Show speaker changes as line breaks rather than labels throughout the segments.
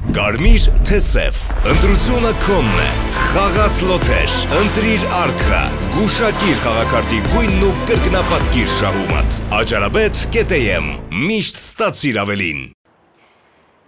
Կարմիր թե սև, ընտրությունը քոնն է, խաղաց լոթեր, ընտրիր արքա, գուշակիր խաղակարտի գույնն ու կրկնապատկիր շահումդ, Ajarabet.am, միշտ ստացիր ավելին։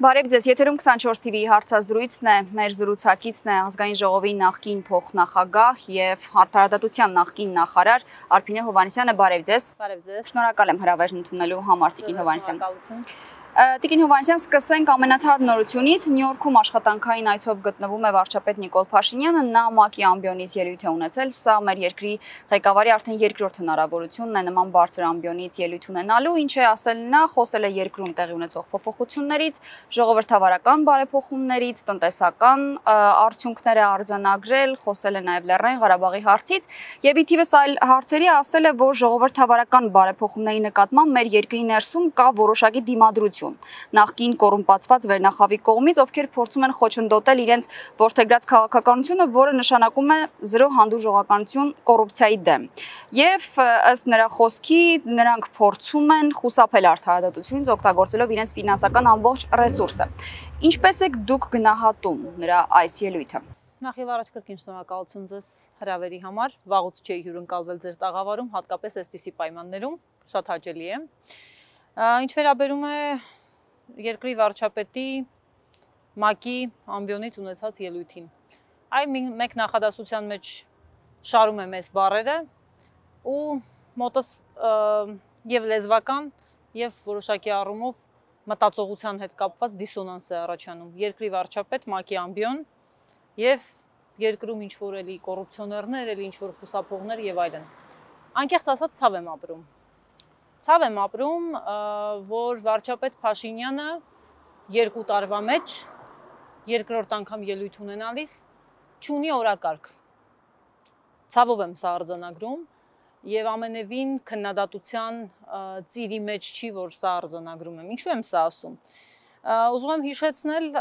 Բարև ձեզ, եթերում 24 TV հարցազրույցն է, մեր զրուցակիցն է ազգային ժողովի նախկին փոխնախագահ և արդարադատության նախկին նախարար Արփինե Հովհաննիսյանը, բարև ձեզ։
Բարև ձեզ։
Շնորհակալ եմ հրավերն ընդունելու համար, Տիկին Հովհաննիսյան։ Տիկին Հովհաննիսյան, սկսենք ամենաթարմ նորությունից։ Նյու Յորքում աշխատանքային այցով գտնվում է վարչապետ Նիկոլ Փաշինյանը, նա ՄԱԿ-ի ամբիոնից ելույթ է ունեցել, սա մեր երկրի ղեկավարի արդեն երկրորդ հնարավորությունն է նման բարձր ամբիոնից ելույթ ունենալու, ինչ է ասել նա, խոսել է երկրում տեղի ունեցող փոփոխություններից, ժողովրդավարական բարեփոխումներից, տնտեսական արդյունքները արձանագրել, խոսել է նաև Լեռնային Ղարաբաղի հարցից եւ ի թիվս այլ հարցերի ասել է, որ ժողովրդավարական բարեփոխումների նկատմամբ մեր երկրի ներսում կա որոշակի դիմադրություն նախկին կոռումպացված վերնախավի կողմից, ովքեր փորձում են խոչընդոտել իրենց որդեգրած քաղաքականությունը, որը նշանակում է զրո հանդուրժողականություն կոռուպցիայի դեմ։ Եվ ըստ նրա խոսքի, նրանք փորձում են խուսափել արդարադատությունից, օգտագործելով իրենց ֆինանսական ամբողջ ռեսուրսը։ Ինչպես եք դուք գնահատում նրա այս ելույթը։
Նախ եւ առաջ կրկին շնորհակալություն ձեզ հրավերի համար, վաղուց չէի հյուրընկալվել ձեր տաղավարում, հատկապես այսպիսի պայմաններում, շատ հաճելի է։ Ինչ վերաբերում է երկրի վարչապետի ՄԱԿ-ի ամբիոնից ունեցած ելույթին։ Այ մեկ նախադասության մեջ շարում եմ այս բառերը ու մոտս եւ լեզվական եւ որոշակի առումով մտածողության հետ կապված դիսոնանս է առաջանում։ Երկրի վարչապետ, ՄԱԿ-ի ամբիոն եւ երկրում ինչ որ էլի կոռուպցիոներներ, էլի ինչ որ խուսափողներ եւ այլն։ Անկեղծ ասած ցավ եմ ապրում։ Ցավ եմ ապրում, որ վարչապետ Փաշինյանը 2 տարվա մեջ երկրորդ անգամ ելույթ ունենալիս չունի օրակարգ։ Ցավով եմ սա արձանագրում եւ ամենևին քննադատության ծիրի մեջ չի, որ սա արձանագրում եմ։ Ինչու եմ սա ասում։ Ուզում եմ հիշեցնել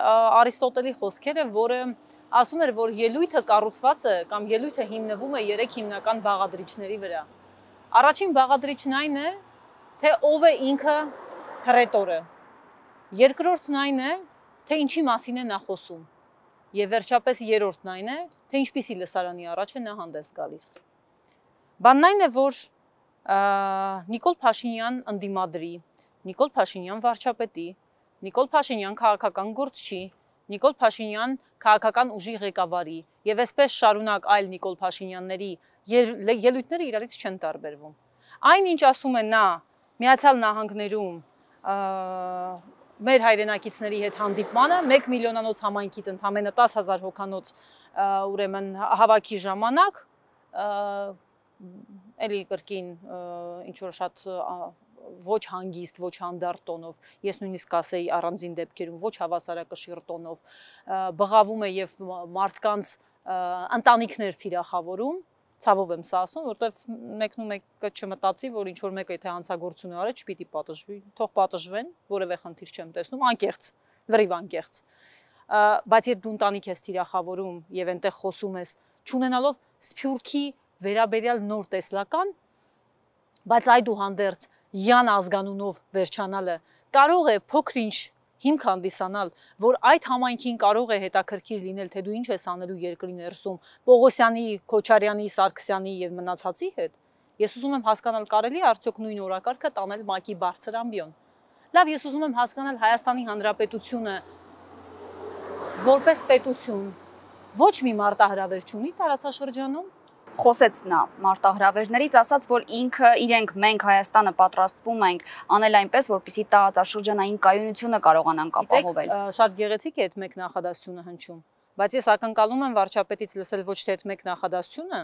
Արիստոտելի խոսքերը, որը ասում էր, որ ելույթը կառուցված է կամ ելույթը հիմնվում է 3 հիմնական բաղադրիչների վրա։ Առաջին բաղադրիչն այն է, թե ով է ինքը հռետորը։ Երկրորդն այն է, թե ինչի մասին է նա խոսում։ Եվ վերջապես երրորդն այն է, թե ինչպիսի լսարանի առաջ է նա հանդես գալիս։ Բանն այն է, որ Նիկոլ Փաշինյան ընդդիմադրի, Նիկոլ Փաշինյան վարչապետի, Նիկոլ Փաշինյան քաղաքական գործչի, Նիկոլ Փաշինյան քաղաքական ուժի ղեկավարի եւ այսպես շարունակ այլ Նիկոլ Փաշինյանների ելույթները իրարից չեն տարբերվում։ Այն ինչ ասում է նա Միացյալ Նահանգներում մեր հայրենակիցների հետ հանդիպմանը 1 միլիոնանոց համայնքից ընդամենը 10,000 հոգանոց ուրեմն հավաքի ժամանակ էլի կրկին ինչ որ շատ ոչ հանգիստ, ոչ հանդարտ տոնով, ես նույնիսկ ասեի առանձին դեպքերում ոչ հավասարակշիռ տոնով բղավում է եւ մարդկանց ընտանիքներ թիրախավորում, ցավով եմ սա ասում, որտեվ մեկն ու մեկը չմտածի, որ ինչ որ մեկը եթե հանցագործություն արել, չպիտի պատժվի, թող պատժվեն, որևէ խնդիր չեմ տեսնում, անկեղծ, լրիվ անկեղծ։ Բայց եթե դու ընտանիք ես թիրախավորում եւ այնտեղ խոսում ես, չունենալով սփյուռքի վերաբերյալ նոր տեսլական, բայց այդուհանդերձ յան ազգանունով վերջանալը կարող է փոքր-ինչ հիմք հանդիսանալ, որ այդ համայնքին կարող է հետաքրքիր լինել, թե դու ինչ ես անելու երկրի ներսում Պողոսյանի, Քոչարյանի, Սարգսյանի եւ մնացածի հետ։ Ես ուզում եմ հասկանալ կարելի է արդյոք նույն օրակարգը տանել ՄԱԿ-ի բարձր ամբիոն։ Լավ, ես ուզում եմ հասկանալ Հայաստանի Հանրապետությունը որպես պետություն ոչ մի մարտահրավեր չունի տարածաշրջանում։
Խոսեց նա մարտահրավերներից, ասաց, որ ինքը իրենք մենք Հայաստանը պատրաստվում ենք անել այնպես, որպեսզի տարածաշրջանային կայունությունը կարողանանք ապահովել։
Շատ գեղեցիկ է այդ մեկ նախադասությունը հնչում, բայց ես ակնկալում եմ վարչապետից լսել ոչ թե այդ մեկ նախադասությունը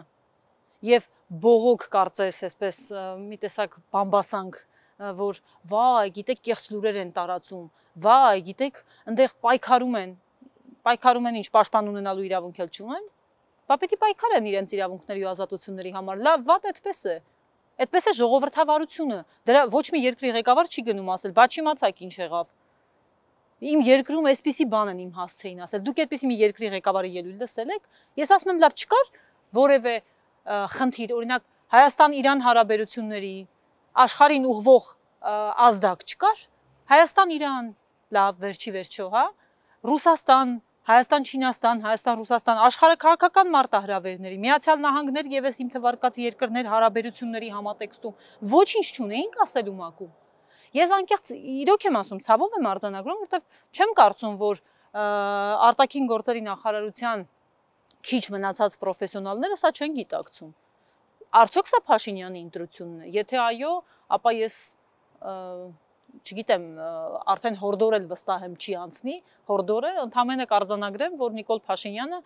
եւ բողոք կարծես այսպես մի տեսակ բամբասանք, որ վայ, գիտեք, կեղծ լուրեր են տարածում, վայ, գիտեք, այնտեղ պայքարում են ինչ պաշտպան ունենալու իրավունք էլ չունեն։ Բա պետք է պայքարեն իրենց իրավունքների ու ազատությունների համար, լավ, վատ այդպես է։ Այդպես է ժողովրդավարությունը։ Դրա ոչ մի երկրի ղեկավար չի գնում ասել, բա չիմացաք ինչ եղավ։ Իմ երկրում այսպիսի բան են իմ հասցեին ասել։ Դուք այդպիսի մի երկրի ղեկավարի ելույթ լսել եք։ Ես ասում եմ, լավ, չկար որևէ խնդիր, օրինակ Հայաստան-Իրան հարաբերությունների աշխարհին ուղղվող ազդակ չկար։ Հայաստան-Իրան, լավ, վերջի վերջո, հա, Ռուսաստան, Հայաստան-Չինաստան, Հայաստան-Ռուսաստան, աշխարհը քաղաքական մարտահրավերների, Միացյալ Նահանգներ եւս իմ թվարկած երկրներ հարաբերությունների համատեքստում ոչինչ չունեինք ասելու մակում։ Ես անկեղծ իրոք եմ ասում, ցավով եմ արձանագրում, որովհետեւ չեմ կարծում, որ արտաքին գործերի նախարարության քիչ մնացած պրոֆեսիոնալները սա չեն գիտակցում։ Արդյոք սա Փաշինյանի ընտրությունն է։ Եթե այո, ապա ես չգիտեմ, արդեն հորդոր էլ վստահ եմ չի անցնի, հորդորը ընդհանրապես կարձանագրեմ, որ Նիկոլ Փաշինյանը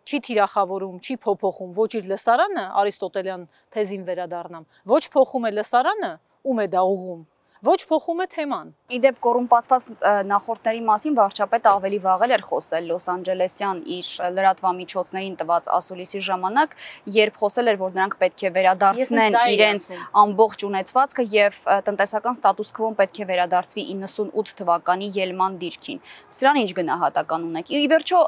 չի թիրախավորում, չի փոփոխում ոչ իր լսարանը, Արիստոտելյան թեզին վերադառնամ, ոչ փոխում է լսարանը, ում է դա ուղում, ոչ փոխում է թեման։
Իդեպ կոռումպացված նախորդների մասին վարչապետը ավելի վաղ էր խոսել Լոս Անջելեսյան իր լրատվամիջոցներին տված ասուլիսի ժամանակ, երբ խոսել էր, որ նրանք պետք է վերադարձնեն իրենց ամբողջ ունեցվածքը եւ տնտեսական ստատուս քվոն պետք է վերադարձվի 98 թվականի ելման դիրքին։ Սրան ինչ գնահատական ունեք։ Ի վերջո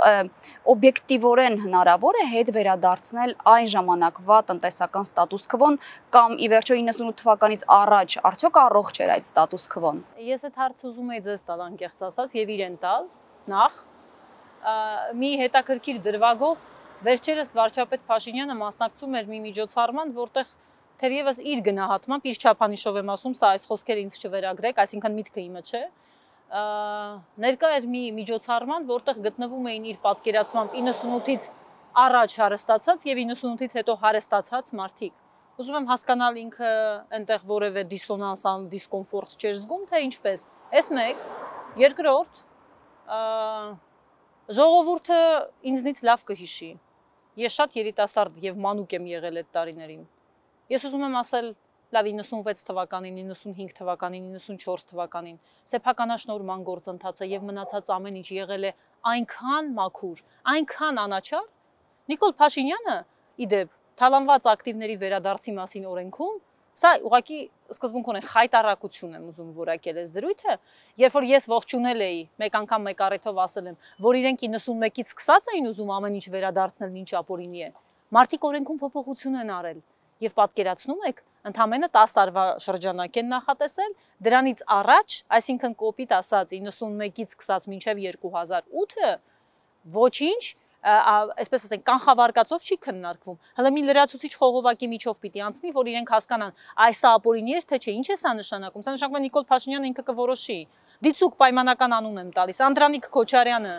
օբյեկտիվորեն հնարավոր է հետ վերադարձնել այն ժամանակվա տնտեսական ստատուս քվոն կամ ի վերջո 98 թվականից առաջ արդյոք առողջ էր այդ ստատուս քվոն։
Ես այդ հարցը ուզում եի ձեզ տալ անկեղծ ասած եւ իրեն տալ նախ մի հետաքրքիր դրվագով վերջերս վարչապետ Փաշինյանը մասնակցում էր մի միջոցառման, որտեղ թերևս իր գնահատմամբ իր չափանիշով եմ ասում, սա այս խոսքերը ինձ չվերագրեք, այսինքն միտքը իմը չէ, ներկա էր մի միջոցառման, որտեղ գտնվում էին իր պատկերացմամբ 98-ից առաջ հարստացած եւ 98-ից հետո հարստացած մարդիկ։ Ուզում եմ հասկանալ ինքը այնտեղ որևէ դիսոնանս, դիսկոմֆորտ չէր զգում, թե ինչպես։ Այս մեկ, երկրորդ, ժողովուրդը ինձնից լավ կհիշի։ Ես շատ երիտասարդ եւ մանուկ եմ եղել այդ տարիներին։ Ես ուզում եմ ասել, լավ 96 թվականին, 95 թվականին, 94 թվականին սեփականաշնորհման գործընթացը եւ մնացած ամեն ինչ եղել է այնքան մաքուր, այնքան անաչառ։ Նիկոլ Փաշինյանը, իդեպ Թալանված ակտիվների վերադարձի մասին օրենքում, սա ուղղակի սկզբունքորեն խայտարակություն եմ ուզում որակել այս դրույթը, երբ որ ես ողջունել էի, մեկ անգամ մեկ առիթով ասել եմ, որ իրենք 91-ից սկսած էին ուզում ամեն ինչ վերադարձնել ինչ ապօրինի է։ Մարդիկ օրենքում փոփոխություն են արել եւ պատկերացնում եք, ընդամենը 10 տարվա շրջանակ են նախատեսել, դրանից առաջ, այսինքն կոպիտ ասած 91-ից սկսած մինչեւ 2008-ը ոչինչ այսպես ասենք կանխավարկածով չի քննարկվում։ Հələ մի լրացուցիչ խողովակի միջով պիտի անցնի, որ իրենք հասկանան, այս ապօրինի է թե չէ, ինչ է սա նշանակում։ Սա նշանակում է Նիկոլ Փաշինյանը ինքը կորոշի։ Դիցուկ պայմանական անուն եմ տալիս։ Անդրանիկ Քոչարյանը,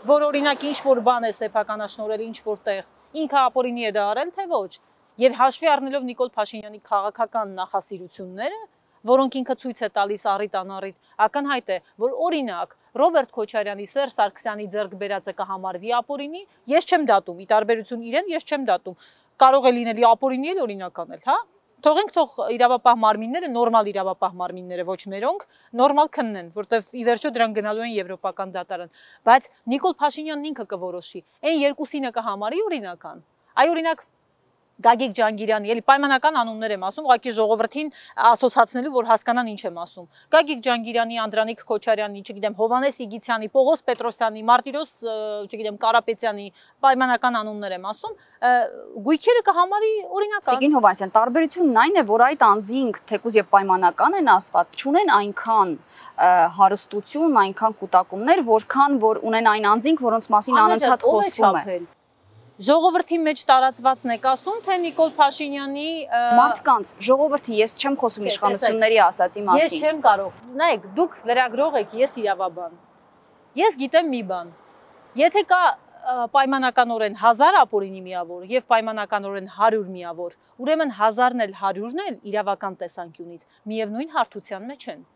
որ օրինակ ինչ որ բան է սեփականաշնորհել ինչ որտեղ, ինքը ապօրինի է դա արել, թե ոչ։ Եվ հաշվի առնելով Նիկոլ Փաշինյանի քաղաքական նախասիրությունները, որոնք ինքը ցույց է տալիս առիթ անառիթ, ակնհայտ է, որ օրինակ Ռոբերտ Քոչարյանի, Սերժ Սարգսյանի ձեռք բերածը կհամարվի ապօրինի, ես չեմ դատում, ի տարբերություն իրեն ես չեմ դատում, կարող է լինել ապօրինի էլ օրինակ անել, հա։ Թողենք թող իրավապահ մարմինները, նորմալ իրավապահ մարմինները, ոչ մերոնք, նորմալ քննեն, որտեվ ի վերջո դրանք գնալու են եվրոպական դատարան, բայց Նիկոլ Փաշինյանն ինքը կորոշի, այն երկուսինը կհամարի օրինական։ Այ օրինակ Գագիկ Ջանգիրյանի, էլի պայմանական անուններ եմ ասում, ուղղակի ժողովրդին ասոցացնելու, որ հասկանան ինչ եմ ասում։ Գագիկ Ջանգիրյանի, Անդրանիկ Քոչարյանի, չգիտեմ, Հովանես Իգիթյանի, Պողոս Պետրոսյանի, Մարտիրոս, չգիտեմ, Կարապետյանի պայմանական անուններ եմ ասում, գույքերը կհամարի օրինական։
Տիկին Հովանեսյան, տարբերությունն այն է, որ այդ անձինք, թեկուզ եւ պայմանական են ասված, չունեն այնքան հարստություն, այնքան կուտակումներ, որքան որ ունեն այն անձինք, որոնց մասին անընդհատ խոսվում է։
Ժողովրդի մեջ տարածվածն եք ասում, թե Նիկոլ Փաշինյանի
մարդկանց, ժողովրդի, ես չեմ խոսում իշխանությունների ասացի մասին։
Ես չեմ կարող։ Նայեք, դուք լրագրող եք, ես իրավաբան։ Ես գիտեմ մի բան։ Եթե կա պայմանականորեն 1000 ապօրինի միավոր եւ պայմանականորեն 100 միավոր, ուրեմն 1000-ն էլ 100-ն էլ իրավական տեսանկյունից միևնույն հարթության մեջ են։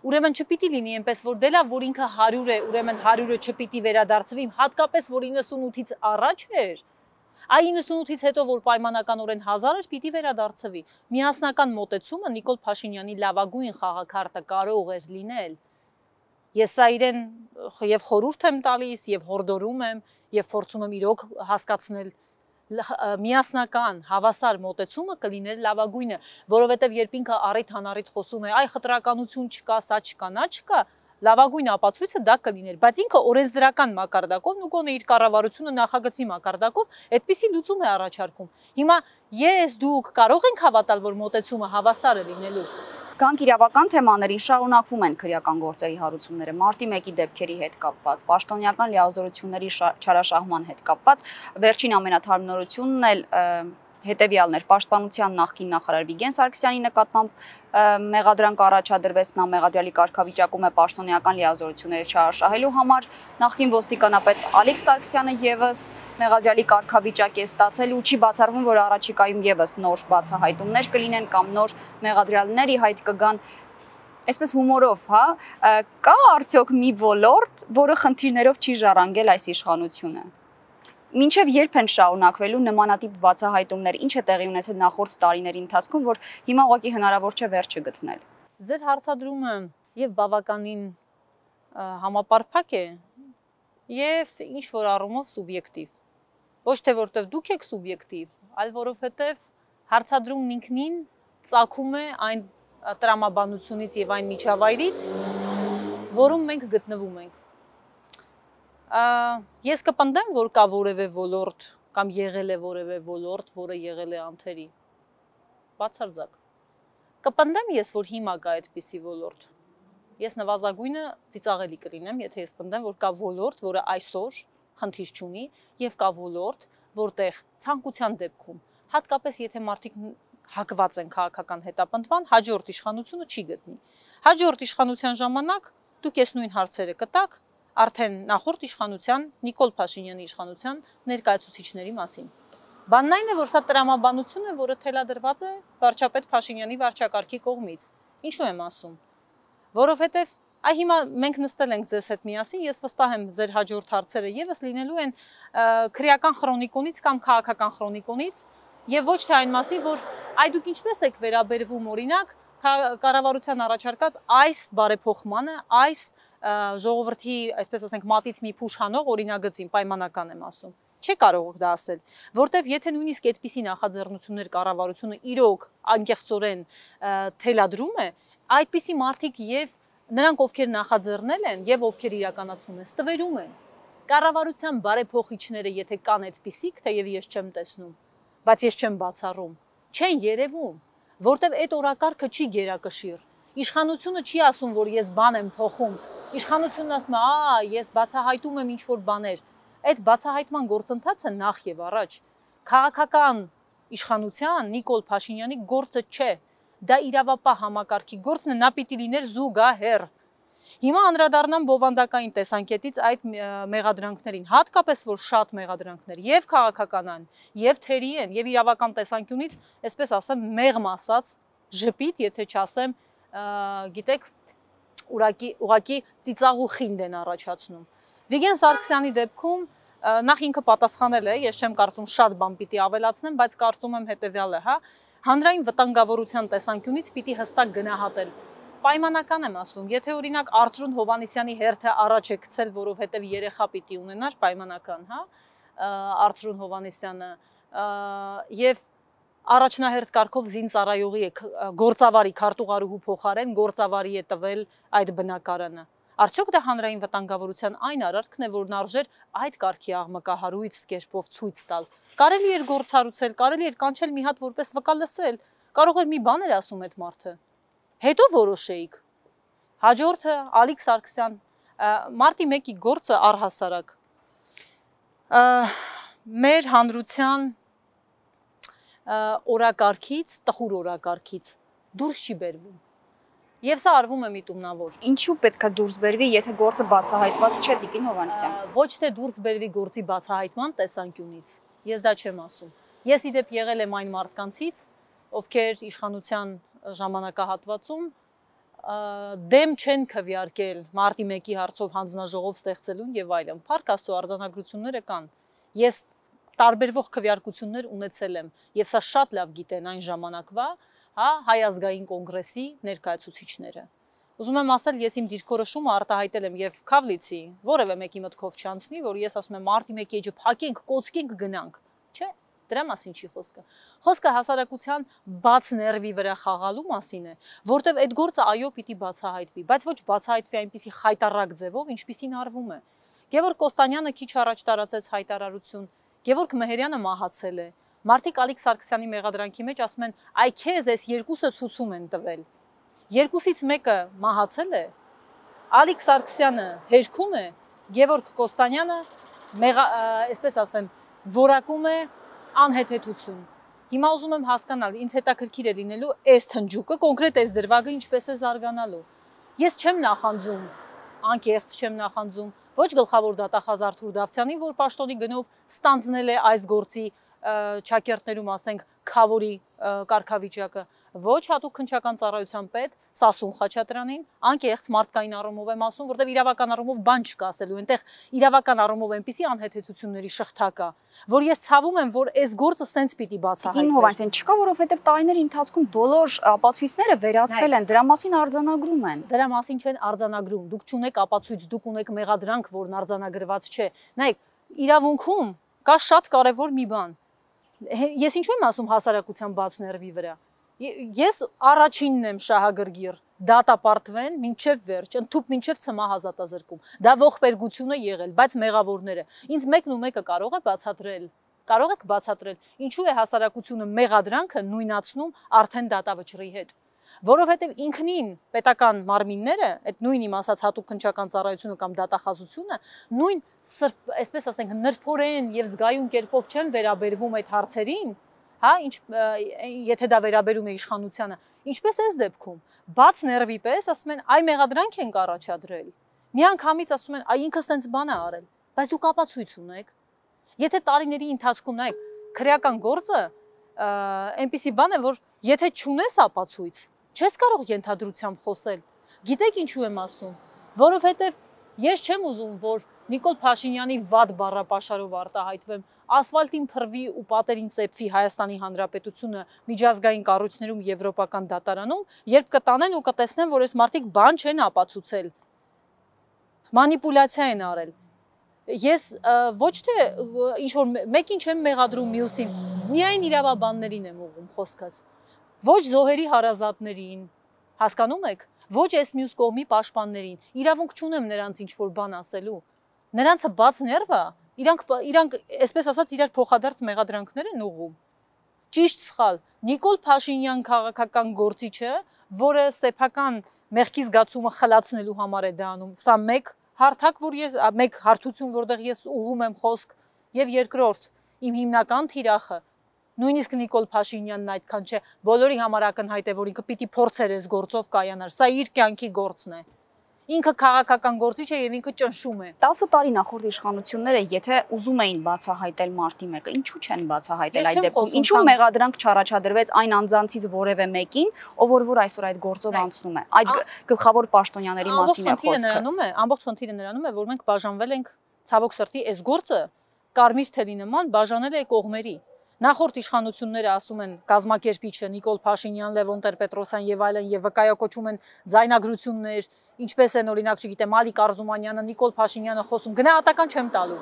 Ուրեմն չպիտի լինի այնպես, որ դե լավ, որ ինքը 100 է, ուրեմն 100-ը չպիտի վերադարձվի, հատկապես որ 98-ից առաջ էր։ Այ 98-ից հետո որ պայմանականորեն 1000 էր, պիտի վերադարձվի։ Միասնական մոտեցումը Նիկոլ Փաշինյանի լավագույն խաղակարտը կարող էր լինել։ Ես սա իրեն եւ խորհուրդ եմ տալիս, եւ հորդորում եմ, եւ փորձում եմ իրոք հասկացնել միասնական հավասար մոտեցումը կլիներ լավագույնը, որովհետև երբ ինքը առիթ անառիթ խոսում է, այ խտրականություն չկա, սա չկա, նա չկա, լավագույն ապացույցը դա կլիներ, բայց ինքը օրենսդրական մակարդակով, ու գոնե իր կառավարությունը նախագծի մակարդակով այդպիսի լուծում է առաջարկում։ Հիմա ես դուք կարող ենք հավատալ, որ մոտեցումը հավասար է լինելու։
Գանք իրավական թեմաներին, շարունակվում են քրեական գործերի հարուցումները, մարտի 1-ի դեպքերի հետ կապված, պաշտոնյական լիազորությունների չարաշահման հետ կապված, վերջին ամենաթարմ նորությունն էլ հետևյալն էր, Պաշտպանության նախկին նախարար Վիգեն Սարգսյանի նկատմամբ մեղադրանք առաջադրվեց, նա մեղադրյալի կարգավիճակում է պաշտոնյական լիազորությունները չարաշահելու համար, նախկին ոստիկանապետ Ալիկ Սարգսյանը եւս մեղադրյալի կարգավիճակ է ստացել ու չի բացառվում, որ առաջիկայում եւս նոր բացահայտումներ կլինեն կամ նոր մեղադրյալներ ի հայտ կգան։ Այսպես հումորով, հա, կա արդյոք մի ոլորտ, որը խնդիրներով չի ժառանգել այս իշխանությունը։ Մինչև երբ են շարունակվելու նմանատիպ բացահայտումներ, ինչ է տեղի ունեցել նախորդ տարիների ընթացքում, որ հիմա ուղղակի հնարավոր չէ վերջը գտնել։
Ձեր հարցադրումը եւ բավականին համապարփակ է եւ ինչ որ առումով սուբյեկտիվ։ Ոչ թե որտեվ դուք եք սուբյեկտիվ, այլ որովհետեւ հարցադրումն ինքնին ծագում է այն տրամաբանությունից եւ այն միջավայրից, որում մենք գտնվում ենք։ Ես կպնդեմ, որ կա որևէ ոլորտ կամ եղել է որևէ ոլորտ, որը եղել է անթերի։ Բացարձակ։ Կպնդեմ ես, որ հիմա կա այդպիսի ոլորտ։ Ես նվազագույնը ծիծաղելի կլինեմ, եթե ես պնդեմ, որ կա ոլորտ, որը այսօր խնդիր չունի, եւ կա ոլորտ, որտեղ ցանկության դեպքում, հատկապես եթե մարդիկ հակված են քաղաքական հետապնդման, հաջորդ իշխանությունը չի գտնի։ Հաջորդ իշխանության ժամանակ դուք այս նույն հարցերը կտաք արդեն նախորդ իշխանության Նիկոլ Փաշինյանի իշխանության ներկայացուցիչների մասին։ Բանն այն է, որ սա տրամաբանություն է, որը թելադրված է վարչապետ Փաշինյանի վարչակարգի կողմից։ Ինչու եմ ասում։ Որովհետև այ հիմա մենք նստել ենք ձեզ հետ միասին, ես վստահ եմ ձեր հաջորդ հարցերը եւս լինելու են քրեական քրոնիկոնից կամ քաղաքական քրոնիկոնից եւ ոչ թե այն մասին, որ այ դուք ինչպես եք վերաբերվում օրինակ կառավարության առաջարկած այս բարեփոխմանը, այս ժողովրդի, այսպես ասենք, մատից մի փուշ հանող օրինագծին պայմանական եմ ասում։ Չի կարող դա ասել, որտեվ եթե նույնիսկ այդպիսի նախաձեռնություններ կառավարությունը իրոք անկեղծորեն թելադրում է, այդպիսի մարդիկ եւ նրանք, ովքեր նախաձեռնել են եւ ովքեր իրականացնում են, ստվերում են։ Կառավարության բարեփոխիչները, եթե կան այդպիսիք, թեև ես չեմ տեսնում, բայց ես չեմ բացառում, չեն երևում, որտեվ այդ օրակարգը չի գերակշիռ։ Իշխանությունը չի ասում, որ ես բան եմ փոխում։ Իշխանությունն ասում է, ես բացահայտում եմ ինչ-որ բաներ։ Այդ բացահայտման գործընթացը նախ եւ առաջ քաղաքական իշխանության Նիկոլ Փաշինյանի գործը չէ։ Դա իրավապահ համակարգի գործն է, նա պիտի լիներ զուգահեռ։ Հիմա անդրադառնամ բովանդակային տեսանկյունից այդ մեղադրանքներին, հատկապես որ շատ մեղադրանքներ եւ քաղաքական են, եւ թերի են, եւ իրավական տեսանկյունից, այսպես ասեմ, մեղմ ասած, ժպիտ, եթե չասեմ, գիտեք, ուղղակի ծիծաղ ու խինդ են առաջացնում։ Վիգեն Սարգսյանի դեպքում նախ ինքը պատասխանել է, ես չեմ կարծում շատ բան պիտի ավելացնեմ, բայց կարծում եմ հետեւյալը, հա, հանրային վտանգավորության տեսանկյունից պիտի հստակ գնահատել։ Պայմանական եմ ասում, եթե օրինակ Արծրուն Հովհաննիսյանի հերթը առաջ է գցել, որովհետև երեխա պիտի ունենար, պայմանական, հա, Արծրուն Հովհաննիսյանը եւ առաջնահերթ կարգով զինծառայողի է գործավարի քարտուղարուհու փոխարեն գործավարի է տվել այդ բնակարանը։ Արդյոք դա հանրային վտանգավորության այն արարքն է, որն արժեր այդ կարգի աղմկահարույց կերպով ցույց տալ։ Կարելի էր գործառուցել, կարելի էր կանչել մի հատ որպես վկա լսել, կարող էր մի բան էր ասում այդ մարդը։ Հետո որոշեիք։ Հաջորդը Ալիկ Սարգսյան, մարտի 1-ի գործը առհասարակ մեր հանրության օրակարգից, տխուր օրակարգից դուրս չի բերվում։ Եվ սա արվում է միտումնավոր։
Ինչու պետք է դուրս բերվի, եթե գործը բացահայտված չէ, Տիկին Հովհաննիսյան։
Ոչ թե դուրս բերվի գործի բացահայտման տեսանկյունից։ Ես դա չեմ ասում։ Ես իդեպ եղել եմ այն մարդկանցից, ովքեր իշխանության ժամանակահատվածում դեմ չեն քվեարկել մարտի 1-ի հարցով հանձնաժողով ստեղծելուն եւ այլն։ Փառք Աստծո, արձանագրությունները կան։ Ես տարբերվող քվեարկություններ ունեցել եմ եւ սա շատ լավ գիտեն այն ժամանակվա, հա, Հայ ազգային կոնգրեսի ներկայացուցիչները։ Ուզում եմ ասել, ես իմ դիրքորոշումը արտահայտել եմ եւ Քավլիցի, որևէ մեկի մտքով չանցնի, որ ես ասում եմ մարտի 1-ի էջը փակենք, կոծկենք, գնանք։ Չէ, դրա մասին չի խոսքը։ Խոսքը հասարակության բաց ներվի վրա խաղալու մասին է, որտեվ այդ գործը այո պիտի բացահայտվի, բայց ոչ բացահայտվի այնպիսի խայտառակ ձևով, ինչպիսին արվում է։ Գևորգ Կոստանյանը քիչ առաջ տարածեց հայտարարություն, Գևորգ Մեհերյանը մահացել է։ Մարդիկ Ալիկ Սարգսյանի մեղադրանքի մեջ ասում են, այ քեզ այս երկուսը ցուցում են տվել։ երկուսից մեկը մահացել է, Ալիկ Սարգսյանը հերքում է, Գևորգ Կոստանյանը այսպես ասեմ, որակում է անհեթեթություն։ Հիմա ուզում եմ հասկանալ, ինձ հետաքրքիր է լինելու այս թնջուկը, կոնկրետ այս դրվագը ինչպես է զարգանալու։ Ես չեմ նախանձում, անկեղծ չեմ նախանձում, ոչ գլխավոր դատախազ Արթուր Դավթյանին, որ պաշտոնի գնով ստանձնել է այս գործի ճակերտներում, ասենք, քավորի կարգավիճակը, ոչ հատուկ քննչական ծառայության պետ Սասուն Խաչատրյանին, անկեղծ մարդկային առումով եմ ասում, որտեղ իրավական առումով բան չկա ասելու, այնտեղ իրավական առումով այնպիսի անհեթեթությունների շղթա կա, որ ես ցավում եմ, որ այս գործը սենց պիտի բացահայտվի։
Տիկին Հովհաննիսյան, չկա, որովհետև տարիների ընթացքում բոլոր ապացույցները վերացվել են, դրա մասին արձանագրում են։
Դրա մասին չեն արձանագրում, դուք չունեք ապացույց, դուք ունեք մեղադրանք, որն արձանագրված չէ։ Նայեք, իրավունքում կա շատ կարևոր մի բան։ Ես ինչու եմ ասում հասարակության բաց ներվի վրա։ Ես առաջինն եմ շահագրգիռ, դատապարտվեն մինչև վերջ, ընդཐུպ մինչև ցմահ ազատազրկում։ Դա ողբերգություն է եղել, բայց մեղավորները ինձ մեկն ու մեկը կարող է բացատրել։ Կարող եք բացատրել, ինչու է հասարակությունը մեղադրանքը նույնացնում արդեն դատավճռի հետ։ Որովհետև ինքնին պետական մարմինները, այդ նույն իմ ասած հատուկ քննչական ծառայությունը կամ դատախազությունը, նույն այսպես ասենք նրբորեն եւ զգայուն կերպով չեն վերաբերվում այդ հարցերին, հա, եթե դա վերաբերում է իշխանությանը, ինչպես այս դեպքում, բաց ներվի պես ասում են, այ մեղադրանք ենք առաջադրել։ Միանգամից ասում են, այ ինքը սենց բան է արել, բայց դուք ապացույց ունեք։ Եթե տարիների ընթացքում նայեք, քրեական գործը այնպիսի բան է, որ եթե չունես ապացույց, չես կարող ենթադրությամբ խոսել։ Գիտեք ինչու եմ ասում, որովհետև ես չեմ ուզում, որ Նիկոլ Փաշինյանի վատ բառապաշարով արտահայտվեմ, ասֆալտին փռվի ու պատերին ծեփվի Հայաստանի Հանրապետությունը միջազգային կառույցներում եվրոպական դատարանում, երբ կտանեն ու կտեսնեն, որ այս մարդիկ բան չեն ապացուցել, մանիպուլյացիա են արել։ Ես ոչ թե ինչ-որ մեկին չեմ մեղադրում մյուսին, միայն իրավաբաններին եմ ուղղում խոսքս, ոչ զոհերի հարազատներին, հասկանում եք, ոչ այս մյուս կողմի պաշտպաններին, իրավունք չունեմ նրանց ինչ-որ բան ասելու, նրանցը բաց ներվա, իրանք այսպես ասած իրար փոխադարձ մեղադրանքներ են ուղղում։ Ճիշտ սխալ, Նիկոլ Փաշինյան քաղաքական գործիչը, որը սեփական մեղքի զգացումը խլացնելու համար է դա անում, սա մեկ հարթակ, մեկ հարթություն, որտեղ ես ուղղում եմ խոսք, եւ երկրորդ, իմ հիմնական թիրախը, նույնիսկ Նիկոլ Փաշինյանն այդքան չէ, բոլորի համար ակնհայտ է, որ ինքը պիտի փորձեր այս գործով կայանար, սա իր կյանքի գործն է։ Ինքը քաղաքական գործիչ է եւ ինքը ճնշում է։
10 տարի նախորդ իշխանությունները, եթե ուզում էին բացահայտել մարտի մեկը, ինչու չեն բացահայտել այդ դեպքում։ Ինչու մեղադրանք չառաջադրվեց այն անձանցից որևէ մեկին, ով որ այսօր այդ գործով անցնում է։ Այդ գլխավոր պաշտոնյաների մասին է խոսքը։
Ամբողջ խնդիրը նրանում է, որ մենք բաժանվել ենք ցավոք սրտի այս գործը կարմիր թելի նման բաժանել է կողմերի։ Նախորդ իշխանությունները ասում են կազմակերպիչը Նիկոլ Փաշինյան, Լևոն Տեր-Պետրոսյան եւ այլն եւ վկայակոչում են ձայնագրություններ, ինչպես են օրինակ, չգիտեմ, Ալիկ Արզումանյանը, Նիկոլ Փաշինյանը խոսում, գնահատական չեմ տալու։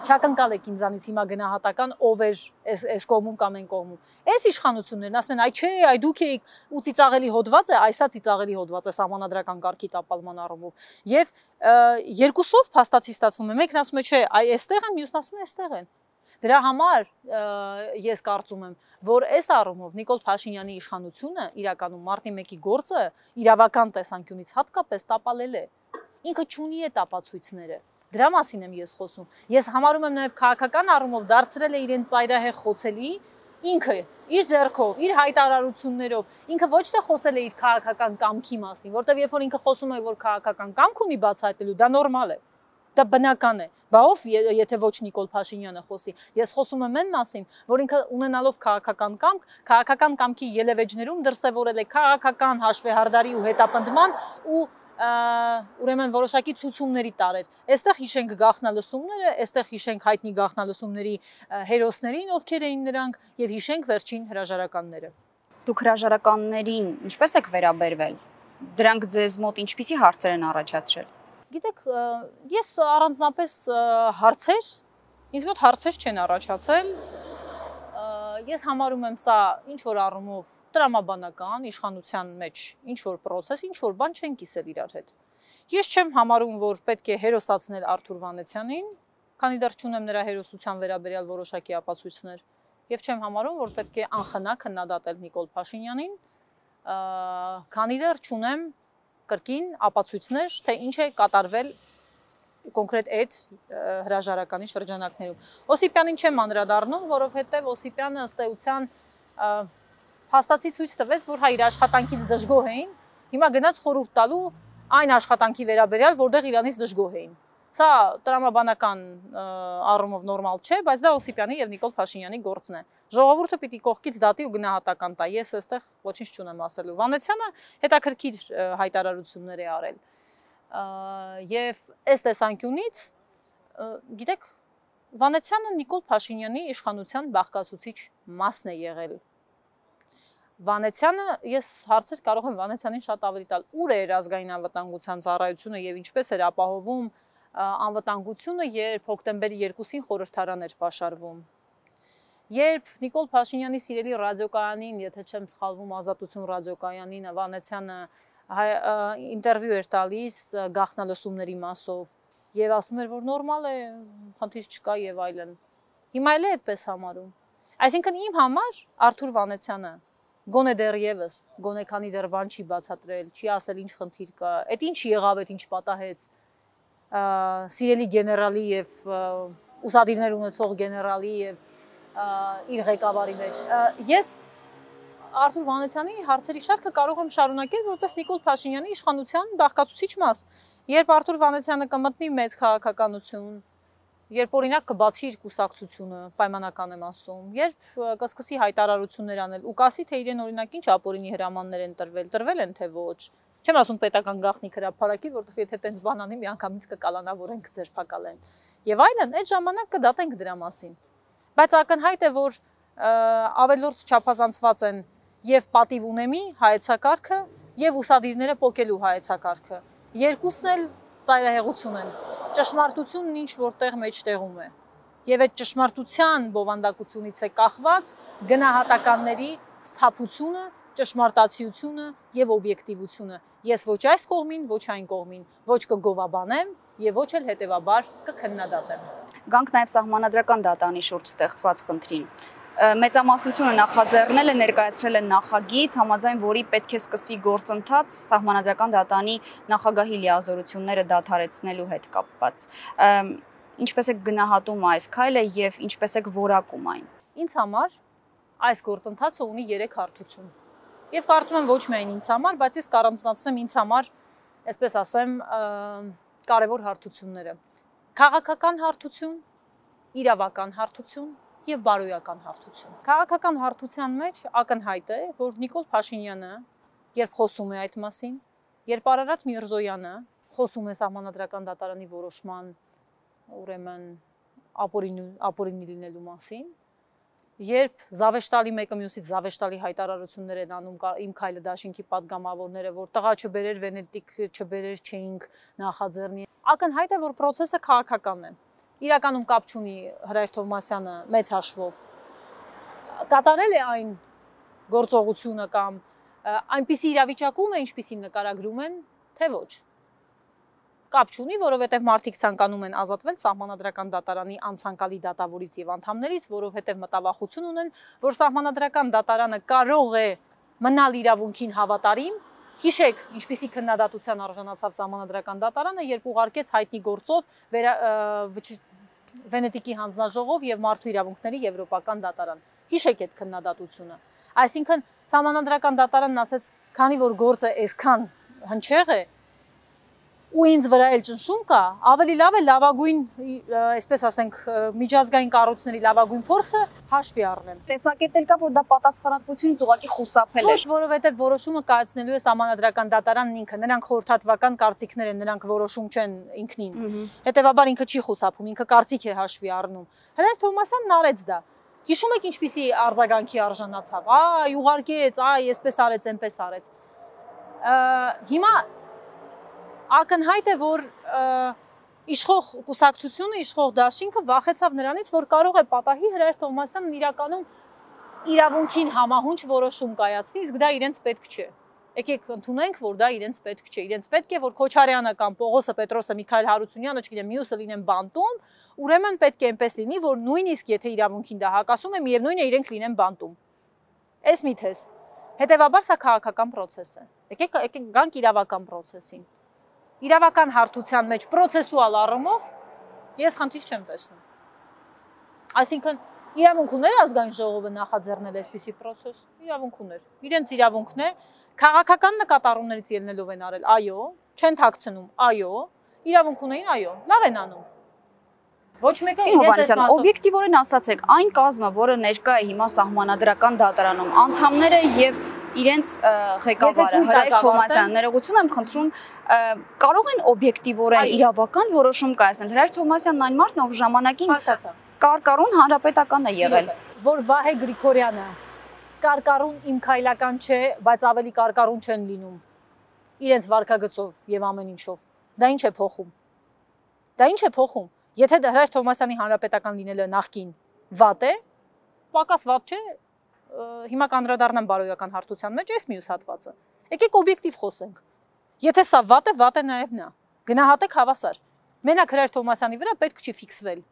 Չակնկալ եք ինձանից հիմա գնահատական ով էր այս կողմում կամ այն կողմում։ Այս իշխանություններն ասում են, այ չէ, այ դուք եք ու ծիծաղելի հոդված է, այսա ծիծաղելի հոդված է սահմանադրական կարգի տապալման առումով։ Եվ երկուսով փաստացի ստացվում է, մեկն ասում է, չէ, այ այստեղ են, մյուսն ասում է, այստեղ են։ Դրա համար ես կարծում եմ, որ այս առումով Նիկոլ Փաշինյանի իշխանությունը իրականում մարտի 1-ի գործը իրավական տեսանկյունից հատկապես տապալել է։ Ինքը չունի այդ ապացույցները։ Դրա մասին եմ ես խոսում։ Ես համարում եմ նաև քաղաքական առումով դարձրել է իրեն ծայրահեղ խոցելի, ինքը իր ձեռքով, իր հայտարարություններով, ինքը ոչ թե խոսել է իր քաղաքական կամքի մասին, որտեղ երբ որ ինքը խոսում է, որ քաղաքական կամք ունի բացահայտելու, դա նորմալ է։ Դա բնական է, բա ով եթե ոչ Նիկոլ Փաշինյանը խոսի, ես խոսում եմ այն մասին, որ ինքը ունենալով քաղաքական կամքի ելևէջներում դրսևորել է քաղաքական հաշվեհարդարի ու հետապնդման ու ուրեմն որոշակի ցուցումների տարեր։ Այստեղ հիշենք գաղտնալսումները, այստեղ հիշենք հայտնի գաղտնալսումների հերոսներին, ովքեր էին նրանք, եւ հիշենք վերջին հրաժարականները։
Դուք հրաժարականներին ինչպես եք վերաբերվել։ Դրանք ձեզ մոտ ինչպիսի հարցեր են առաջացրել։
Գիտեք, ես առանձնապես հարցեր, ինձ մոտ հարցեր չեն առաջացել, ես համարում եմ սա ինչ-որ առումով տրամաբանական, իշխանության մեջ ինչ-որ պրոցես, ինչ-որ բան չեն կիսել իրար հետ։ Ես չեմ համարում, որ պետք է հերոսացնել Արթուր Վանեցյանին, քանի դեռ չունեմ նրա հերոսության վերաբերյալ որոշակի ապացույցներ, եւ չեմ համարում, որ պետք է անխնա քննադատել Նիկոլ Փաշինյանին, քանի դեռ չունեմ կրկին ապացույցներ, թե ինչ է կատարվել կոնկրետ այդ հրաժարականի շրջանակներում։ Օսիպյանին չեմ անդրադառնում, որովհետև Օսիպյանը ըստ էության փաստացի ցույց տվեց, որ իր աշխատանքից դժգոհ էին, հիմա գնաց խորհուրդ տալու այն աշխատանքի վերաբերյալ, որտեղ իրանից դժգոհ էին։ Սա տրամաբանական առումով նորմալ չէ, բայց դա Օսիպյանի եւ Նիկոլ Փաշինյանի գործն է։ Ժողովուրդը պիտի կողքից դատի ու գնահատական տա։ Ես այստեղ ոչինչ չունեմ ասելու։ Վանեցյանը հետաքրքիր հայտարարություններ է արել։ Եվ այս տեսանկյունից, գիտեք, Վանեցյանը Նիկոլ Փաշինյանի իշխանության բաղկացուցիչ մասն է եղել։ Վանեցյանը, ես հարցեր կարող եմ Վանեցյանին շատ ավելի տալ, ուր էր ազգային անվտանգության ծառայությունը եւ ինչպես էր ապահովում անվտանգությունը, երբ հոկտեմբերի 2-ին խորհրդարան էր պաշարվում։ Երբ Նիկոլ Փաշինյանի սիրելի ռադիոկայանին, եթե չեմ սխալվում, Ազատություն ռադիոկայանին Վանեցյանը ինտերվյու էր տալիս գաղտնալսումների մասով եւ ասում էր, որ նորմալ է, խնդիր չկա եւ այլն։ Հիմա էլ է այդպես համարում։ Այսինքն իմ համար Արթուր Վանեցյանը գոնե դեռևս, գոնե քանի դեռ բան չի բացատրել, չի ասել ինչ խնդիր կա, այդ ինչ եղավ, այդ ինչ պատահեց սիրելի գեներալի եւ ուսադիրներ ունեցող գեներալի եւ իր ղեկավարի մեջ։ Ես Արթուր Վանեցյանի հարցերի շարքը կարող եմ շարունակել որպես Նիկոլ Փաշինյանի իշխանության բաղկացուցիչ մաս։ Երբ Արթուր Վանեցյանը կմտնի մեծ քաղաքականություն, երբ օրինակ կբացի իր կուսակցությունը, պայմանական եմ ասում, երբ կսկսի հայտարարություններ անել ու կասի, թե իրեն օրինակ ինչ ապօրինի հրամաններ են տրվել են թե ոչ։ Չեմ ասում պետական գաղտնիք հրապարակի, որովհետև եթե տենց բան անի, միանգամից կկալանավորենք ձերբակալեն։ Եվ այլն, այդ ժամանակ կդատենք դրա մասին։ Բայց ակնհայտ է, որ ավելորդ չափազանցված են եւ պատիվ ունեմի հայեցակարգը եւ ուսադիրները պոկելու հայեցակարգը։ Երկուսն էլ ծայրահեղություն են։ Ճշմարտությունն ինչ որտեղ մեջտեղում է։ Եվ այդ ճշմարտության բովանդակությունից է կախված գնահատականների սթափությունը, ճշմարտացիությունը եւ օբյեկտիվությունը։ Ես ոչ այս կողմին, ոչ այն կողմին, ոչ կգովաբանեմ եւ ոչ էլ հետեւաբար կքննադատեմ։
Գանք նաեւ սահմանադրական դատանի շուրջ ստեղծված խնդրին։ Մեծամասնությունը նախաձեռնել է, ներկայացրել է նախագիծ, համաձայն որի պետք է սկսվի գործընթաց սահմանադրական դատանի նախագահի լիազորությունները դադարեցնելու հետ կապված։ Ինչպես եք գնահատում այս քայլը եւ ինչպես եք որակում այն։
Ինձ համար այս գործընթացը ունի 3 հարթություն։ Եվ կարծում եմ ոչ միայն ինձ համար, բայց ես կառանձնացնեմ ինձ համար, այսպես ասեմ, կարևոր հարթությունները։ Քաղաքական հարթություն, իրավական հարթություն եւ բարոյական հարթություն։ Քաղաքական հարթության մեջ ակնհայտ է, որ Նիկոլ Փաշինյանը, երբ խոսում է այդ մասին, երբ Արարատ Միրզոյանը խոսում է սահմանադրական դատարանի որոշման, ուրեմն ապօրինի լինելու մասին, երբ զավեշտալի մեկը մյուսից զավեշտալի հայտարարություններ են անում իմ քայլը դաշինքի падգամավորները, որ տղա չբերեր Վենետիկ, չբերեր չէինք նախաձեռնի, ակնհայտ է, որ process-ը քաղաքական է։ Իրականում կապ չունի Հրայր Թովմասյանը մեծ հաշվով կատարել է այն գործողությունը կամ այնպիսի իրավիճակում է, ինչպիսին նկարագրում են, թե ոչ։ Կապ չունի, որովհետև մարդիկ ցանկանում են ազատվել սահմանադրական դատարանի անցանկալի դատավորից եւ անդամներից, որովհետև մտավախություն ունեն, որ սահմանադրական դատարանը կարող է մնալ իրավունքին հավատարիմ։ Հիշեք, ինչպիսի քննադատության արժանացավ սահմանադրական դատարանը, երբ ուղարկեց հայտնի գործով Վենետիկի հանձնաժողով եւ մարդու իրավունքների եվրոպական դատարան։ Հիշեք այդ քննադատությունը։ Այսինքն սահմանադրական դատարանն ասեց, քանի որ գործը այսքան հնչեղ է, ու ինձ վրա էլ ճնշում կա, ավելի լավ է լավագույն, այսպես ասենք, միջազգային կառույցների լավագույն փորձը հաշվի առնեմ։
Տեսակետել կա, որ դա պատասխանատվությունից ուղղակի խուսափել է։
Ոչ, որովհետև որոշումը կայացնելու է սահմանադրական դատարանն ինքը, նրանք խորհրդատվական կարծիքներ են, նրանք որոշում չեն ինքնին։ Հետևաբար ինքը չի խուսափում, ինքը կարծիք է հաշվի առնում։ Հրայր Թովմասյանն արեց դա։ Հիշում եք ինչպիսի արձագանքի արժանացավ։ Այ, ուղարկեց, այ, այսպես արեց, այնպես արեց։ Հիմա ակնհայտ է, որ իշխող կուսակցությունը, իշխող դաշինքը վախեցավ նրանից, որ կարող է պատահի Հրայր Թովմասյանն իրականում իրավունքին համահունչ որոշում կայացնի, իսկ դա իրենց պետք չէ։ Եկեք ընդունենք, որ դա իրենց պետք չէ։ Իրենց պետք է, որ Քոչարյանը կամ Պողոսը, Պետրոսը, Միքայել Հարությունյանը, չգիտեմ, մյուսը լինեն բանտում, ուրեմն պետք է այնպես լինի, որ նույնիսկ եթե իրավունքին դա հակասում է, միևնույն է իրենք լինեն բանտում։ Էս մի թեզ։ Հետևաբար սա քաղաքական process է։ Եկեք գանք իրավական process-ին։ Իրավական հարթության մեջ processual առումով ես խնդիր չեմ տեսնում։ Այսինքն իրավունք ուներ ազգային ժողովը նախաձեռնել այսպիսի process, իրավունք ուներ։ Իրենց իրավունքն է, քաղաքական նկատառումներից ելնելով են արել, այո, չեն թաքցնում, այո, իրավունք ունեին, այո, լավ են անում։ Ոչ մեկը իրենց
օբյեկտիվորեն ասացեք, այն կազմը, որը ներկա է հիմա սահմանադրական դատարանում, անդամները եւ իրենց ղեկավարը Հրայր Թովմասյանը, ներողություն եմ խնդրում, կարող են օբյեկտիվորեն իրավական որոշում կայացնել։ Հրայր Թովմասյանն այն մարդն, ով ժամանակին կարկառուն հանրապետական է եղել,
որ Վահե Գրիգորյանը կարկառուն իմ քայլական չէ, բայց ավելի կարկառուն չեն լինում իրենց վարքագծով եւ ամեն ինչով։ Դա ինչ է փոխում։ Դա ինչ է փոխում։ Եթե Հրայր Թովմասյանի հանրապետական լինելը նախկին վատ է, պակաս վատ չէ, հիմա կանդրադառնամ բարոյական հարթության մեջ այս մյուս հատվածը։ Եկեք օբյեկտիվ խոսենք։ Եթե սա վատ է նաև նա։ Գնահատեք հավասար։ Մենակ Հրայր Թովմասյանի վրա պետք չի ֆիքսվել։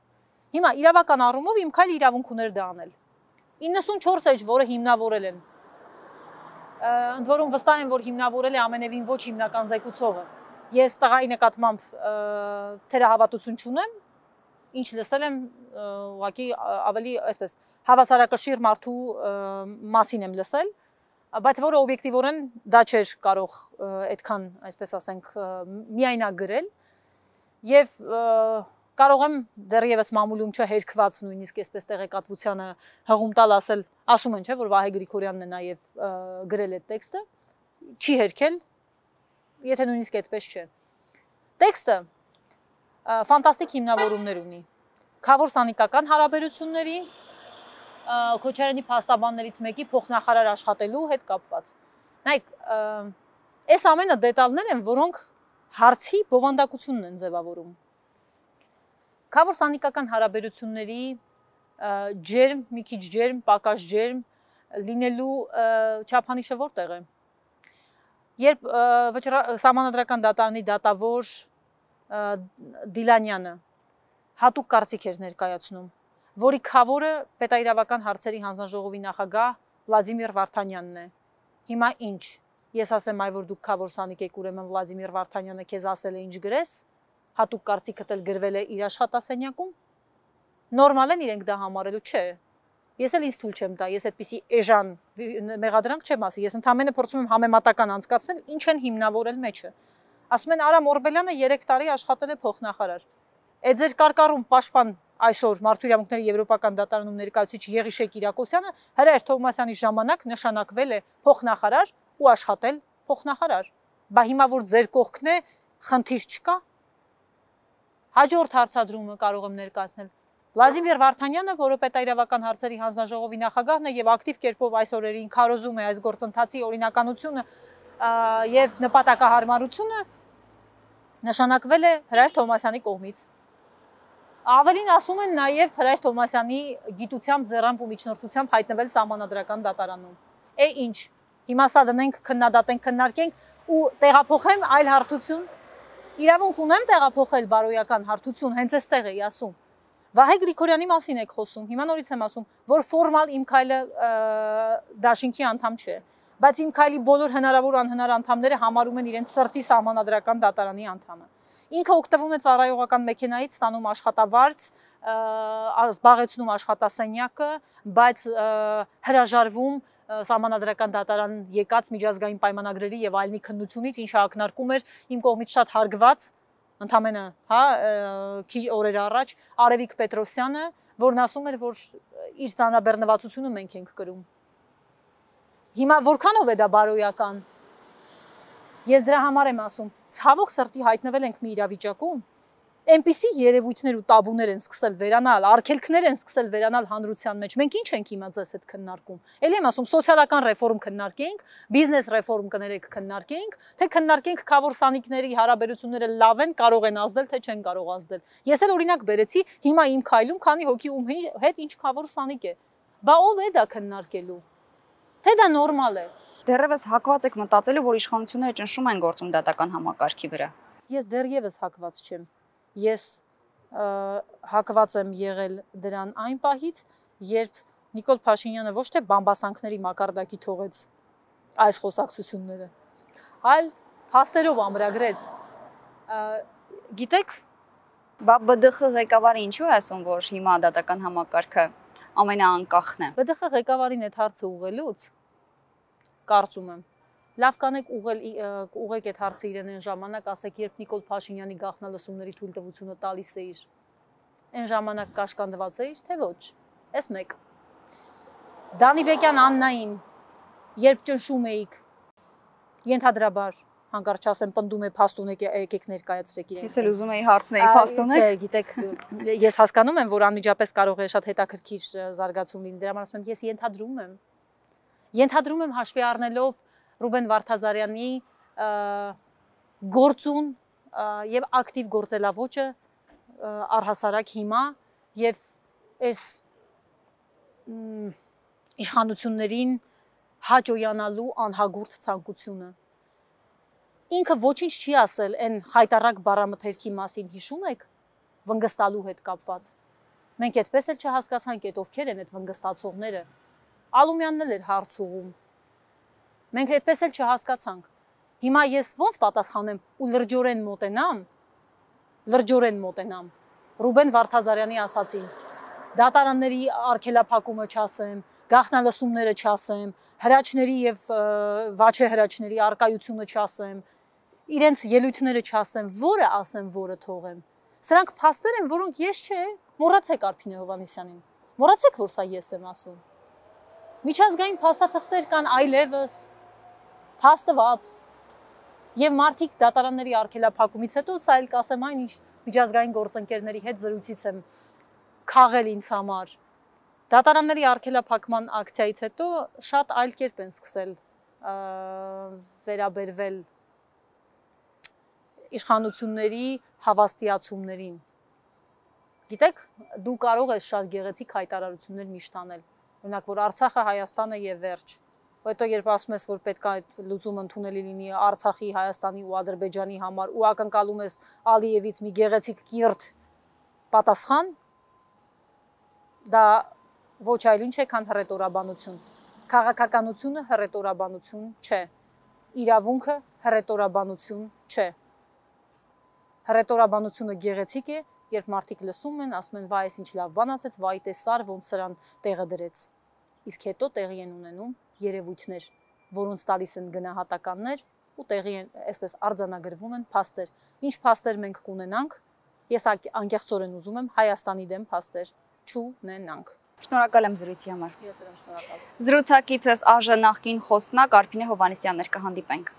Հիմա իրավական առումով իմ քայլը իրավունք ուներ դա անել։ 94 էջ, որը հիմնավորել են։ Ընդ որում վստահ եմ, որ հիմնավորել է ամենևին ոչ հիմնական զեկուցողը։ Ես տղայի նկատմամբ թերահավատություն չունեմ, ինչ լսել եմ, ուղղակի ավելի այսպես հավասարակշիռ մարդու մասին եմ լսել, բայց որը օբյեկտիվորեն դա չէր կարող այդքան, այսպես ասենք, միայնակ գրել եւ կարող եմ դեռևս մամուլում չհերքված նույնիսկ այսպես տեղեկատվությանը հղում տալ ասում են, չէ, որ Վահե Գրիգորյանն է նաեւ գրել այդ տեքստը, չի հերքել, եթե նույնիսկ այդպես չէ։ Տեքստը ֆանտաստիկ հիմնավորումներ ունի։ Քավոր սանիկական հարաբերությունների, Քոչարյանի փաստաբաններից մեկի փոխնախարար աշխատելու հետ կապված։ Նայեք, այս ամենը դետալներ են, որոնք հարցի բովանդակությունն են ձևավորում։ Քավոր սանիկական հարաբերությունների ջերմ, մի քիչ ջերմ, պակաս ջերմ լինելու չափանիշը որտեղ է։ Երբ Սահմանադրական դատարանի դատավոր Դիլանյանը հատուկ կարծիք էր ներկայացնում, որի քավորը պետաիրավական հարցերի հանձնաժողովի նախագահ Վլադիմիր Վարդանյանն է։ Հիմա ինչ։ Ես ասեմ, այ որ դուք քավոր սանիկ եք, ուրեմն Վլադիմիր Վարդանյանը քեզ ասել է ինչ գրես, հատուկ կարծիքդ էլ գրվել է իր աշխատասենյակում։ Նորմալ են իրենք դա համարելու, չէ։ Ես էլ ինձ թույլ չեմ տա, ես այդպիսի էժան մեղադրանք չեմ ասի, ես ընդհանրապես փորձում եմ համեմատական անցկացնել, ինչ են հիմնավորել մեջը։ Ասում են Արամ Օրբելյանը 3 տարի աշխատել է փոխնախարար։ Այդ ձեր կարկառում պաշտպան այսօր Մարդու իրավունքների եվրոպական դատարանում ներկայացուցիչ Եղիշե Կիրակոսյանը Հրայր Թովմասյանի ժամանակ նշանակվել է փոխնախարար ու աշխատել փոխնախարար։ Բա հիմա որ ձեր կողքն է, խնդիր չկա։ Հաջորդ հարցադրումը կարող եմ ներկայացնել։ Վլադիմիր Վարդանյանը, որը պետաիրավական հարցերի հանձնաժողովի նախագահն է եւ ակտիվ կերպով այս օրերին քարոզում է այս գործընթացի օրինականությունը եւ նպատակահարմարությունը, նշանակվել է Հրայր Թովմասյանի կողմից։ Ավելին ասում են նաև Հրայր Թովմասյանի գիտությամբ, ձեռամբ ու միջնորդությամբ հայտնվել Սահմանադրական դատարանում։ Ինչ, հիմա սա դնենք, քննադատենք, քննարկենք ու տեղափոխեմ այլ հարթություն։ Իրավունք ունեմ տեղափոխել բարոյական հարթություն, հենց այստեղ էի ասում։ Վահե Գրիգորյանի մասին եք խոսում, հիմա նորից եմ ասում, որ ֆորմալ իմ քայլը դաշինքի անդամ չէ, բայց իմ քայլի բոլոր հնարավոր անհնար անդամները համարում են իրենց սրտի Սահմանադրական դատարանի անդամը։ Ինքը օգտվում է ծառայողական մեքենայից, ստանում աշխատավարձ, զբաղեցնում աշխատասենյակը, բայց հրաժարվում Սահմանադրական դատարան եկած միջազգային պայմանագրերի եւ այլնի քննությունից, ինչը ակնարկում էր իմ կողմից շատ հարգված, ընդամենը, օրեր առաջ Արևիկ Պետրոսյանը, որն ասում էր, որ իր ծանրաբեռնվածությունը մենք ենք կրում։ Հիմա որքանով է դա բարոյական։ Ես դրա համար եմ ասում, ցավոք սրտի հայտնվել ենք մի իրավիճակում, այնպիսի երևույթներ ու տաբուներ են սկսել վերանալ, արգելքներ են սկսել վերանալ հանրության մեջ։ Մենք ինչ ենք հիմա ձեզ հետ քննարկում։ Էլի եմ ասում, սոցիալական ռեֆորմ քննարկենք, բիզնես ռեֆորմ կներեք քննարկենք, թե քննարկենք քավոր սանիկների հարաբերությունները լավ են, կարող են ազդել, թե չեն կարող ազդել։ Ես էլ օրինակ բերեցի հիմա իմ քայլում, քանի հոգի ում հետ ինչ քավոր սանիկ է։ Բա ով է դա քննարկելու։ Թե դա նորմալ է։
Դեռևս հակված եք մտածելու, որ իշխանությունները ճնշում են գործում դատական համակարգի վրա։
Ես դեռևս հակված չեմ։ Ես հակված եմ եղել դրան այն պահից, երբ Նիկոլ Փաշինյանը ոչ թե բամբասանքների մակարդակի թողեց այս խոսակցությունները։ Այլ փաստերով ամրագրեց։ Գիտեք,
ԲԴԽ ղեկավարը ինչու է ասում, որ հիմա դատական համակարգը ամենաանկախն է։
ԲԴԽ ղեկավարին այդ հարցը ուղղելուց կարծում եմ լավ կանեք ուղղեք այդ հարցը իրեն այն ժամանակ, ասեք, երբ Նիկոլ Փաշինյանի գաղտնալսումների թույլտվությունը տալիս էիր, այն ժամանակ կաշկանդված էիր, թե ոչ։ Էս մեկ։ Դանիբեկյան Աննային, երբ ճնշում էիք, ենթադրաբար հանկարծ ասեմ, պնդում է փաստունեք եկեք ներկայացրեք իրեն։
Ես էլ ուզում եի հարցնել փաստունեք։
Չէ, գիտեք, ես հասկանում եմ, որ անմիջապես կարող է շատ հետաքրքիր զարգացում լինի։ Դրա համար ասում եմ, ես ենթադրում եմ հաշվի առնելով Ռուբեն Վարդազարյանի գործուն եւ ակտիվ գործելավոճը առհասարակ հիմա եւ այս իշխանություններին հաջողանալու անհագուրդ ցանկությունը։ Ինքը ոչինչ չի ասել այն խայտարակ բառամթերքի մասին, հիշում եք, վնգստալու հետ կապված։ Մենք այդպես էլ չհասկացանք, այդ ովքեր են այդ վնգստացողները։ Ալումյանն էլ էր հարց ուղում։ Մենք այդպես էլ չհասկացանք։ Հիմա ես ոնց պատասխանեմ ու լրջորեն մոտենամ Ռուբեն Վարդազարյանի ասացին։ Դատարանների արգելափակումը չասեմ, գաղտնալսումները չասեմ, հրաչների եւ վաչե հրաչների արկայությունը չասեմ, իրենց ելույթները չասեմ, որը ասեմ, որը թողեմ։ Սրանք փաստեր են, որոնք ես չէ, մոռացեք Արփինե Հովհաննիսյանին։ Մոռացեք, որ սա ես եմ ասում։ Միջազգային փաստաթղթեր կան այլևս, փաստված։ Եվ մարդիկ դատարանների արգելափակումից հետո սա էլ կասեմ այնինչ միջազգային գործընկերների հետ զրույցից եմ քաղել ինձ համար։ Դատարանների արգելափակման ակցիայից հետո շատ այլ կերպ են սկսել վերաբերվել իշխանությունների հավաստիացումներին։ Գիտեք, դու կարող ես շատ գեղեցիկ հայտարարություններ միշտ անել, օրինակ, որ Արցախը Հայաստանը եւ վերջ։ Հետո երբ ասում ես, որ պետք է այդ լուծումը ընդունելի լինի Արցախի, Հայաստանի ու Ադրբեջանի համար, ու ակնկալում ես Ալիևից մի գեղեցիկ կիրթ պատասխան, դա ոչ այլ ինչ է, քան հռետորաբանություն։ Քաղաքականությունը հռետորաբանություն չէ։ Իրավունքը հռետորաբանություն չէ։ Հռետորաբանությունը գեղեցիկ է, երբ մարդիկ լսում են, ասում են, վայ, ինչ լավ բան ասեց, վայ, տեսար, ոնց սրան տեղը դրեց։ Իսկ հետո տեղի են ունենում երևույթներ, որոնց տալիս են գնահատականներ ու տեղի են, այսպես արձանագրվում են փաստեր։ Ինչ փաստեր մենք կունենանք, ես անկեղծորեն ուզում եմ Հայաստանի դեմ փաստեր չունենանք։
Շնորհակալ եմ զրույցի համար։
Ես եմ շնորհակալ։
Զրուցակիցս ԱԺ նախկին խոսնակ Արփինե Հովհաննիսյանն էր, կհանդիպենք։